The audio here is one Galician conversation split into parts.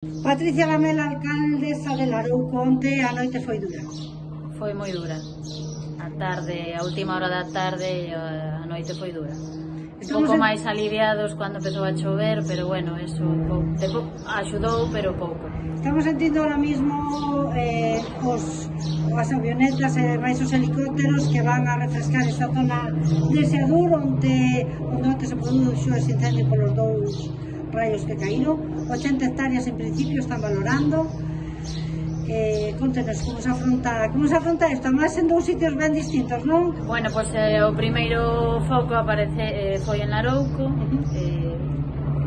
Patricia Lamela, alcaldesa de Larouco, onte a noite foi dura. Foi moi dura. A tarde, a última hora da tarde, a noite foi dura. Un pouco máis aliviados cando empezou a chover, pero bueno, eso axudou, pero pouco. Estamos sentindo ahora mismo as avionetas e máis os helicópteros que van a refrescar esta zona de Seadur, onde se produxo ese incendio polos dous raios que caíron. 80 hectáreas en principio están valorando. Contenos como se afronta isto, máis en dous sitios ben distintos, non? Bueno, pois o primeiro foco foi en Larouco,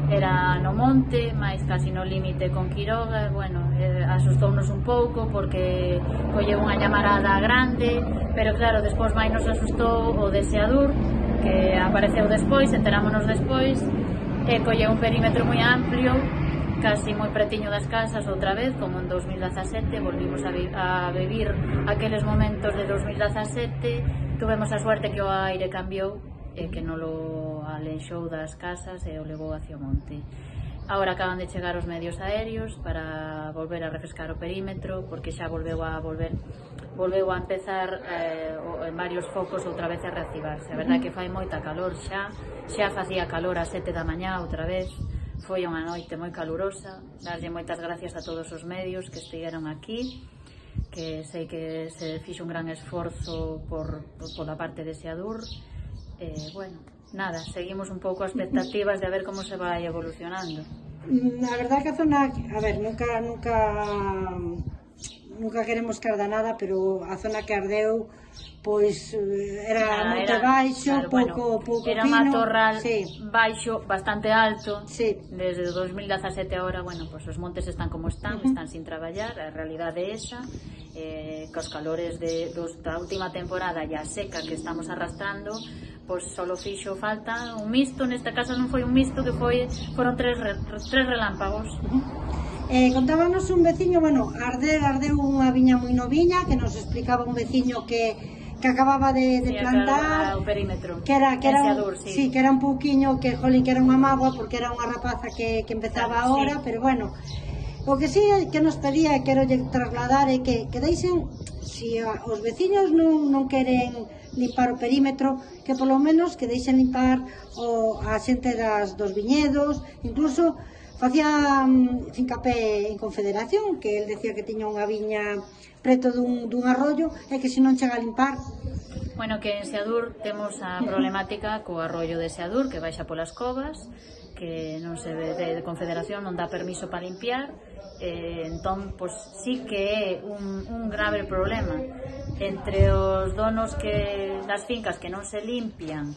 era no monte, máis casi no límite con Quiroga. Bueno, asustounos un pouco porque colleu unha llamarada grande, pero claro, despois máis nos asustou o de Seadur, que apareceu despois, enterámonos despois, e colleu un perímetro moi amplio, casi moi pretiño das casas outra vez, como en 2017, volvimos a vivir aqueles momentos de 2017, tuvemos a suerte que o aire cambiou e que non o aleixou das casas e o levou hacia o monte. Agora acaban de chegar os medios aéreos para volver a refrescar o perímetro, porque xa volveu a empezar en varios focos outra vez a reactivarse. A verdade que fai moita calor xa facía calor a 7 da mañá outra vez. Foi unha noite moi calurosa. Darlle moitas gracias a todos os medios que estiveron aquí, que sei que se fixo un gran esforzo pola parte de Seadur. Bueno, nada, seguimos un pouco a expectativas de a ver como se vai evolucionando. A verdade que a zona, a ver, nunca queremos que arda nada, pero a zona que ardeu pois era moito baixo, pouco pino. Era un matorral baixo, bastante alto. Desde 2017 agora, bueno, pois os montes están como están sin traballar, a realidade é esa, cos calores da última temporada e a seca que estamos arrastrando, pois só fixo falta un misto. Neste caso non foi un misto, que foron tres relámpagos. Contábanos un veciño, bueno, ardeu unha viña moi noviña, que nos explicaba un veciño que acababa de plantar o perímetro, que era un pouquiño, que era unha mágoa, porque era unha rapaza que empezaba agora, pero bueno, o que sí que nos pedía e quero trasladar é que deixen, se os veciños non queren limpar o perímetro, que polo menos que deixen limpar a xente dos viñedos. Incluso facía fincapé en Confederación, que el decía que tiña unha viña preto dun arroyo e que se non chega a limpar. Bueno, que en Seadur temos a problemática co arroyo de Seadur, que baixa polas covas, que non se ve de Confederación, non dá permiso para limpiar. Entón, pois sí que é un grave problema entre os donos das fincas que non se limpian,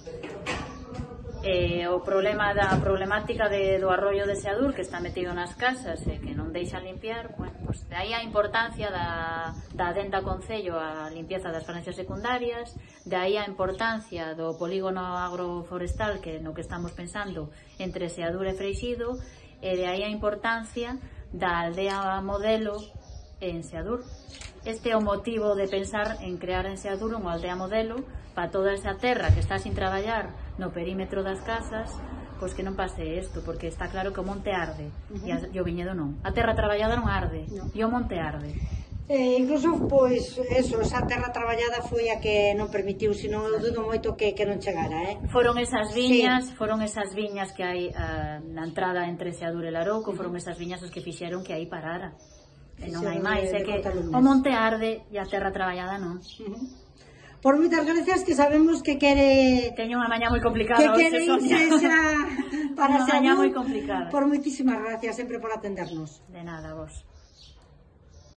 a problemática do arroyo de Seadur, que está metido nas casas e que non deixan limpiar. Bueno, pois de aí a importancia da adenda Concello a limpieza das franxas secundarias, de aí a importancia do polígono agroforestal no que estamos pensando entre Seadur e Freixido, e de aí a importancia da aldea modelo en Seadur. Este é o motivo de pensar en crear en Seadur unha aldea modelo para toda esa terra que está sin traballar no perímetro das casas, pois que non pase isto, porque está claro que o monte arde e o viñedo non. A terra traballada non arde, e o monte arde. Incluso, pois, esa terra traballada foi a que non permitiu, senón eu dudo moito que non chegara, Foron esas viñas que hai na entrada entre Seadur e Larouco, foron esas viñas as que fixeron que aí parara. E non hai máis, é que o monte arde e a terra traballada non. Por moitas gracias, que sabemos que quere... Teño unha mañá moi complicada, que quere irse xa para Seadur. Unha mañá moi complicada. Por moitísimas gracias sempre por atendernos. De nada, vos.